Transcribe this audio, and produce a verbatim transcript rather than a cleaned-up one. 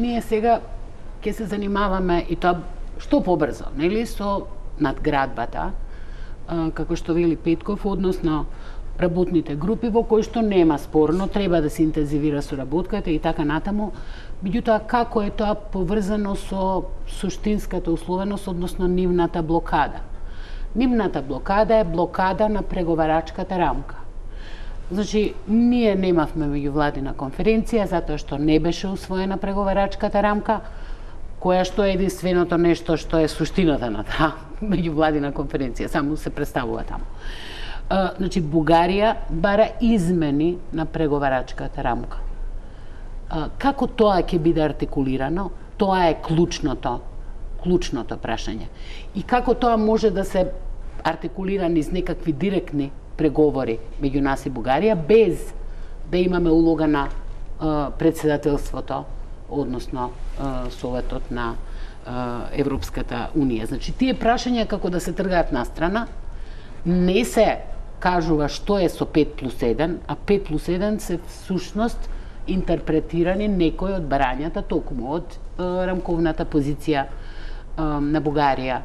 Ние сега ќе се занимаваме и тоа што побрзо, нели, со надградбата, како што вели Петков, односно работните групи во кои што нема спорно, треба да се интензивира соработката и така натаму. Меѓутоа, како е тоа поврзано со суштинската условеност, односно нивната блокада? Нивната блокада е блокада на преговарачката рамка. Значи, ние немавме меѓувладина конференција затоа што не беше усвоена преговарачката рамка, која што е единственото нешто што е суштината на таа меѓувладина конференција, само се представува таму. А, значи, Бугарија бара измени на преговарачката рамка. А, како тоа ќе биде артикулирано? Тоа е клучното, клучното прашање. И како тоа може да се артикулира низ некакви директни преговори меѓу нас и Бугарија, без да имаме улога на а, председателството, односно а, Советот на а, Европската Унија. Значи, тие прашања како да се тргаат настрана, не се кажува што е со пет плюс еден, а пет плюс еден се всушност интерпретирани некои од барањата токму од а, рамковната позиција а, на Бугарија